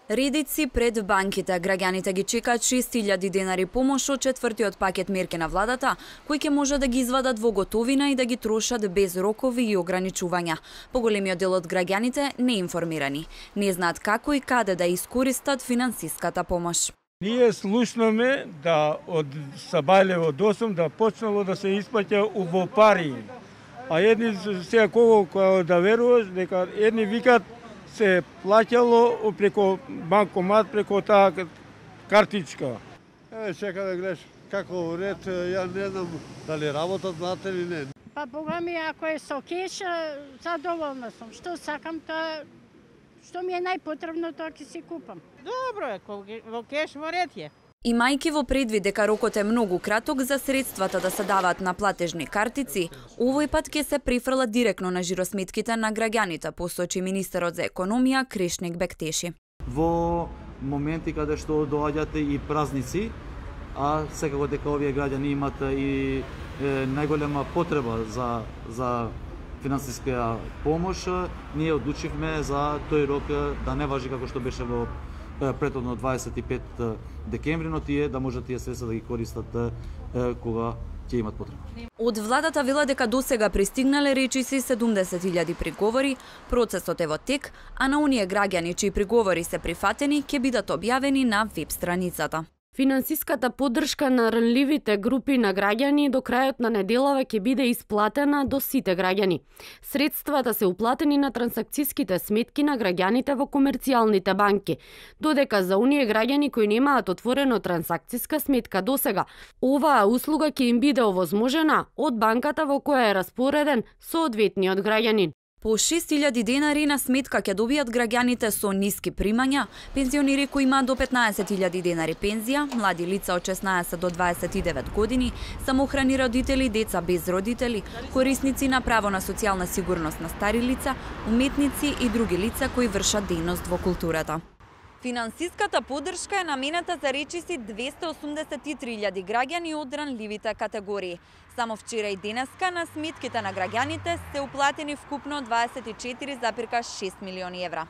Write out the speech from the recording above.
Редици пред банките, граѓаните ги чекаат 6.000 денари помош од четвртиот пакет мерки на владата, кои ќе може да ги извадат во готовина и да ги трошат без рокови и ограничувања. Поголемиот дел од граѓаните не информирани, не знаат како и каде да искористат финансиската помош. Ние слушнаме да од сабајле од 8 да почнало да се исплаќа во пари. А едни сега кога да веруваш дека едни викат се плаќало преко банкомат, преко таа картичка. Чека да гледаш како ред, ја не знам дали работат знате или не. Па Бога ми, ако е со кеш, задоволна сум. Што сакам, тоа што ми е најпотребно, тоа ќе си купам. Добро е, во кеш во ред е. Имајќи во предвид дека рокот е многу краток за средствата да се даваат на платежни картици, овој пат ќе се префрлат директно на жиросметките на граѓаните, посочи министерот за економија Кришник Бектеши. Во моменти каде што доаѓате и празници, а секако дека овие граѓани имаат и најголема потреба за финансиска помош, ние одлучивме за тој рок да не важи како што беше во претhodно 25 декември, но тие да можат тие средства да ги користат кога ќе имат потреба. Од владата вела дека досега пристигнале речиси 70.000 приговори, процесот е во тек, а на оние граѓани чии приговори се прифатени ќе бидат објавени на веб страницата. Финансиската поддршка на ранливите групи на граѓани до крајот на неделава ќе биде исплатена до сите граѓани. Средствата се уплатени на трансакциските сметки на граѓаните во комерцијалните банки, додека за оние граѓани кои немаат отворено трансакциска сметка досега, оваа услуга ќе им биде овозможена од банката во која е распореден соодветниот граѓанин. По 6.000 денари на сметка ќе добијат граѓаните со ниски примања, пензионери кои имаат до 15.000 денари пензија, млади лица од 16 до 29 години, самохрани родители, деца без родители, корисници на право на социјална сигурност на стари лица, уметници и други лица кои вршат дејност во културата. Финансиската поддршка е намената за речиси 283.000 граѓани од ранливите категории. Само вчера и денеска на сметките на граѓаните се уплатени вкупно 24,6 милиони евра.